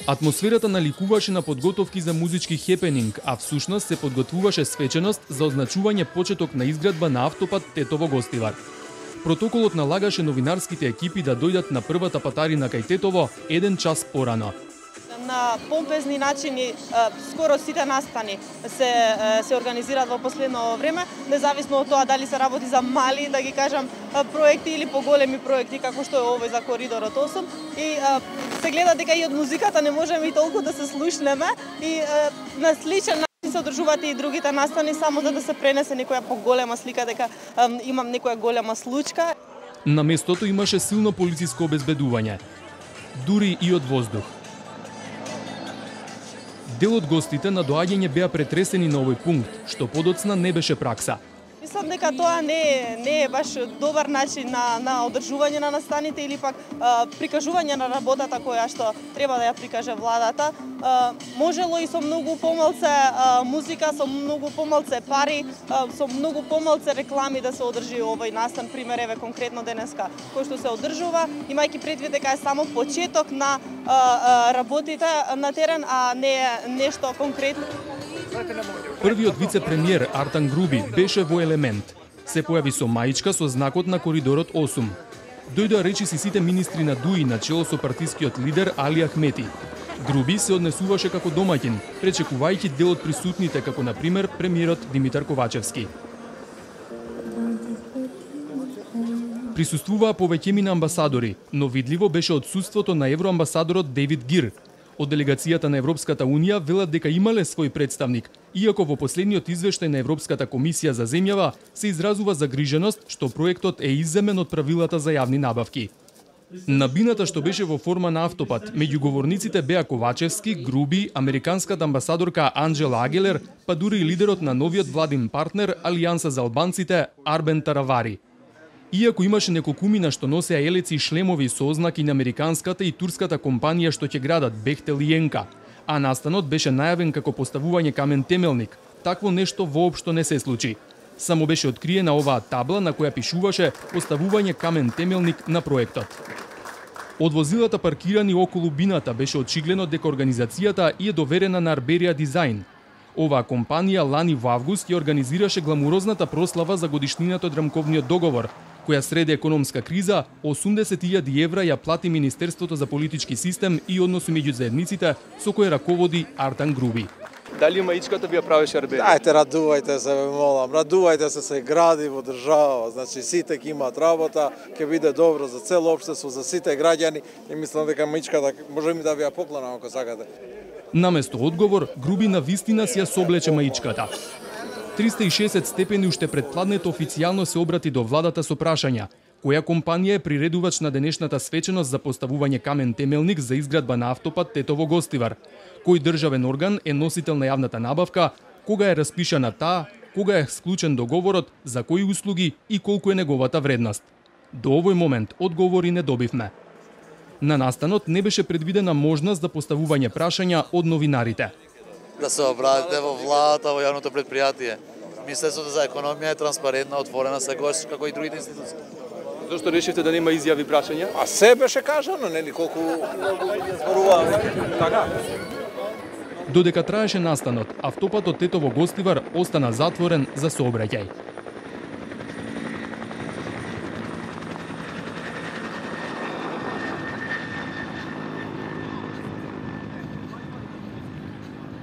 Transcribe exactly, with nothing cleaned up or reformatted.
Атмосферата наликуваше на подготовки за музички хепенинг, а всушност се подготвуваше свеченост за означување почеток на изградба на автопат Тетово-Гостивар. Протоколот налагаше новинарските екипи да дојдат на првата патарина кај Тетово еден час порано. На помпезни начини скоро сите настани се се организираат во последно време, независно од тоа дали се работи за мали, да ги кажам, проекти или поголеми проекти како што е овој за коридорот осум, и се гледа дека и од музиката не можеме и толку да се слушнеме, и на сличен начин се одржуваат и другите настани, само за да се пренесе некоја поголема слика дека имам некоја голема случка. На местото имаше силно полициско обезбедување, дури и од воздух. Дел од гостите на доаѓање беа претресени на овој пункт, што подоцна не беше пракса. Мислам дека тоа не е, не е баш добар начин на, на одржување на настаните или пак а, прикажување на работата која што треба да ја прикаже владата. А, можело и со многу помалце а, музика, со многу помалце пари, а, со многу помалце реклами да се одржи овој настан, пример еве конкретно денеска, кој што се одржува, имајќи предвид дека е само почеток на а, а, работите на терен, а не е нешто конкретно. Првиот вице-премиер Артан Груби беше во елемент. Се појави со маичка со знакот на коридорот осум. Дојдоа речиси сите министри на ДУИ на чело со партискиот лидер Али Ахмети. Груби се однесуваше како домаќин, пречекувајќи дел од присутните, како на пример премиерот Димитар Ковачевски. Присуствуваа повеќемина амбасадори, но видливо беше отсуството на евроамбасадорот Дейвид Гир. Од делегацијата на Европската Унија велат дека имале свој представник, иако во последниот извештај на Европската комисија за земјава се изразува загриженост што проектот е изземен од правилата за јавни набавки. На бината што беше во форма на автопат, меѓу говорниците беа Ковачевски, Груби, американската амбасадорка Анджела Агелер, па дури и лидерот на новиот владин партнер Алијанса за албанците Арбен Таравари. Иако имаше неколкумина што носеа елеци и шлемови со ознаки на американската и турската компанија што ќе градат Бехтел и Енка, а настанот беше најавен како поставување камен темелник, такво нешто воопшто не се случи. Само беше откриена оваа табла на која пишуваше поставување камен темелник на проектот. Од возилата паркирани околу бината беше очигледно дека организацијата е доверена на Арберија Дизајн. Оваа компанија лани во август ја организираше гламурозната прослава за годишнината од рамковниот договор, која среде економска криза, осумдесет илјади евра ја плати Министерството за политички систем и односи меѓу заедниците, со кој раководи Артан Груби. Дали маичката ви ја правеше Арберија? Ајте, радувајте се, ве молам, радувајте се, се гради во држава, значи сите ќе имаат работа, ќе биде добро за цело општество, за сите граѓани, и мислам дека маичката можеме да ви ја поклонам ако сакате. Наместо одговор, Груби на вистина си ја соблече маичката. триста и шесет степени уште пред пладнето официјално се обрати до владата со прашања: која компанија е приредувач на денешната свеченост за поставување камен темелник за изградба на автопат Тетово-Гостивар? Кој државен орган е носител на јавната набавка? Кога е распишана таа? Кога е склучен договорот? За кои услуги и колку е неговата вредност? До овој момент одговори не добивме. На настанот не беше предвидена можност за поставување прашања од новинарите. Да се обратите во владата, во јавното предпријатие. Министерството за економија е транспарентна, отворена секогаш како и другите институции. Зошто решивте да нема изјави прашања? А се беше кажано, нели, колку зборуваме. Така. Додека траеше настанот, автопатот Тетово-Гостивар остана затворен за сообраќај.